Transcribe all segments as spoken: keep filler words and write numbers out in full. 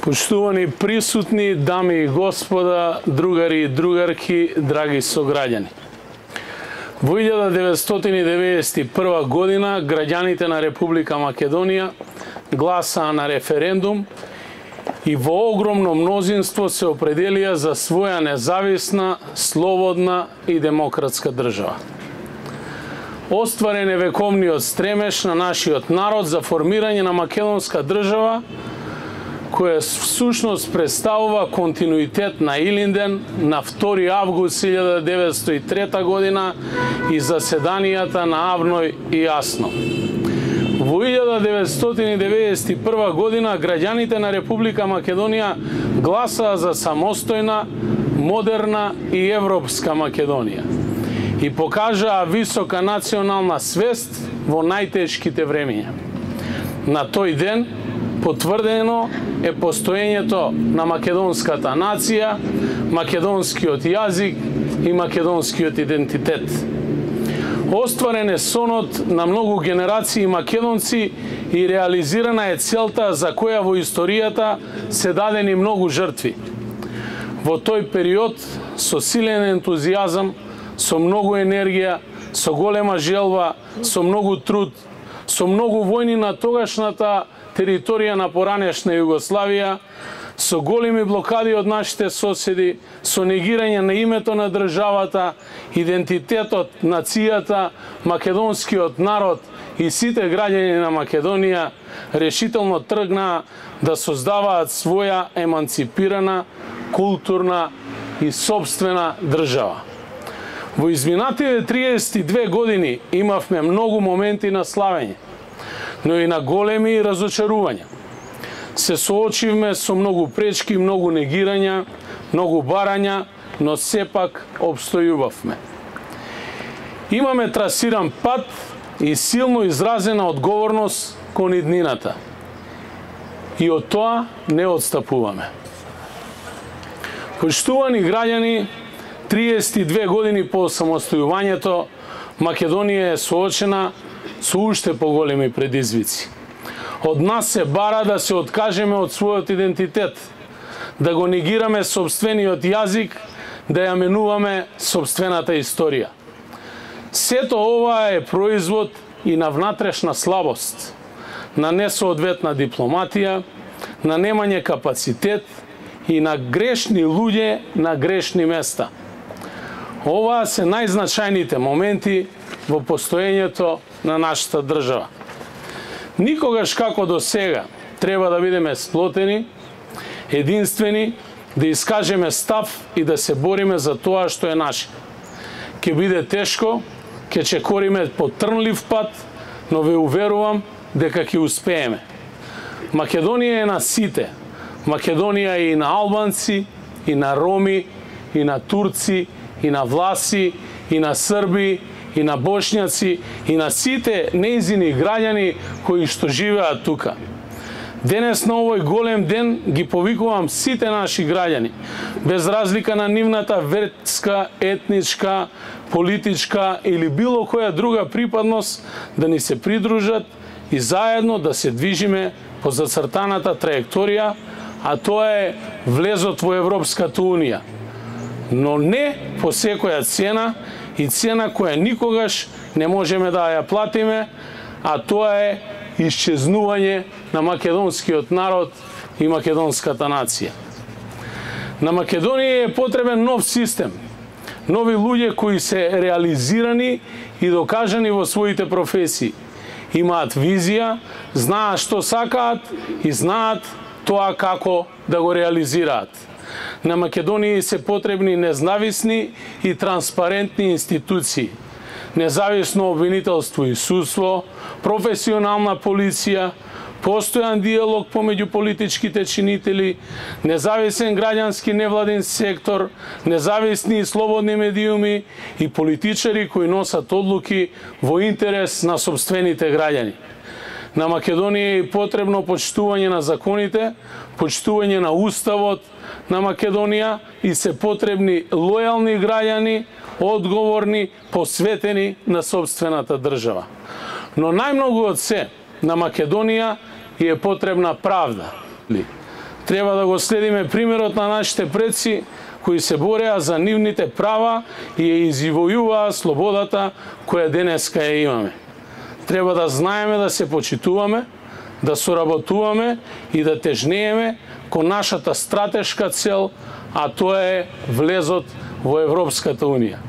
Почитувани присутни, дами и господа, другари и другарки, драги сограѓани. Во илјада деветстотини деветдесет и прва година граѓаните на Република Македонија гласаа на референдум и во огромно мнозинство се определија за своја независна, слободна и демократска држава. Остварен е вековниот стремеж на нашиот народ за формирање на македонска држава, која всушност представува континуитет на Илинден на втори август илјада деветстотини и трета година и заседанијата на Авној и Јасно. Во илјада деветстотини деветдесет и прва година граѓаните на Република Македонија гласаа за самостојна, модерна и европска Македонија и покажаа висока национална свест во најтешките времиња. На тој ден потврдено е постоењето на македонската нација, македонскиот јазик и македонскиот идентитет. Остварен е сонот на многу генерации македонци и реализирана е целта за која во историјата се дадени многу жртви. Во тој период, со силен ентузијазам, со многу енергија, со голема желба, со многу труд, со многу војни на тогашната територија на поранешна Југославија, со големи блокади од нашите соседи, со негирање на името на државата, идентитетот, нацијата, македонскиот народ и сите граѓани на Македонија решително тргнаа да создаваат своја еманципирана, културна и собствена држава. Во изминатите триесет и две години имавме многу моменти на славење, но и на големи разочарувања. Се соочивме со многу пречки, многу негирања, многу барања, но сепак обстојувавме. Имаме трасиран пат и силно изразена одговорност кон иднината. И од тоа не отстапуваме. Почитувани граѓани, триесет и две години по самостојувањето, Македонија е соочена со уште поголеми предизвици. Од нас се бара да се откажеме од својот идентитет, да го негираме собствениот јазик, да ја менуваме собствената историја. Сето ова е производ и на внатрешна слабост, на несоодветна дипломатија, на немање капацитет и на грешни луѓе на грешни места. Оваа се најзначајните моменти во постоењето на нашата држава. Никогаш како до сега треба да бидеме сплотени, единствени, да искажеме став и да се бориме за тоа што е наше. Ке биде тешко, ке чекориме по трнлив пат, но ве уверувам дека ќе успееме. Македонија е на сите. Македонија е и на албанци, и на роми, и на турци, и на власи, и на срби, и на бошњаци, и на сите нејзини граѓани кои што живеат тука. Денес на овој голем ден ги повикувам сите наши граѓани, без разлика на нивната верска, етничка, политичка или било која друга припадност, да ни се придружат и заедно да се движиме по зацртаната траекторија, а тоа е влезот во Европската Унија. Но не по секоја цена, и цена која никогаш не можеме да ја платиме, а тоа е исчезнување на македонскиот народ и македонската нација. На Македонија е потребен нов систем, нови луѓе кои се реализирани и докажани во своите професии. Имаат визија, знаат што сакаат и знаат тоа како да го реализираат. На Македонија се потребни независни и транспарентни институции, независно обвинителство и судство, професионална полиција, постојан диалог помеѓу политичките чинители, независен граѓански невладин сектор, независни и слободни медиуми и политичари кои носат одлуки во интерес на сопствените граѓани. На Македонија е потребно почитување на законите, почитување на уставот на Македонија и се потребни лојални граѓани, одговорни, посветени на собствената држава. Но најмногу од се, на Македонија е потребна правда. Треба да го следиме примерот на нашите предци кои се бореа за нивните права и ја извојуваа слободата која денеска ја имаме. Треба да знаеме да се почитуваме, да соработуваме и да тежнееме кон нашата стратешка цел, а тоа е влезот во Европската Унија.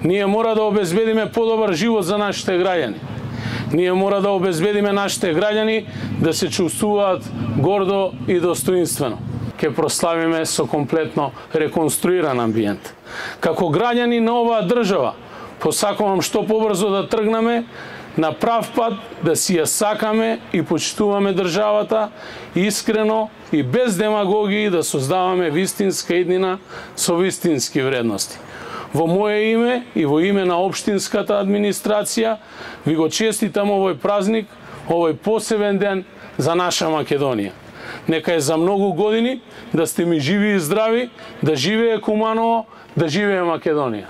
Ние мора да обезбедиме подобар живот за нашите граѓани. Ние мора да обезбедиме нашите граѓани да се чувствуваат гордо и достоинствено. Ке прославиме со комплетно реконструиран амбиент. Како граѓани на оваа држава, посакувам што побрзо да тргнеме на прав пат, да си ја сакаме и почитуваме државата, искрено и без демагогии да создаваме вистинска иднина со вистински вредности. Во моје име и во име на општинската администрација ви го честитам овој празник, овој посебен ден за наша Македонија. Нека е за многу години да сте ми живи и здрави, да живее Куманово, да живее Македонија.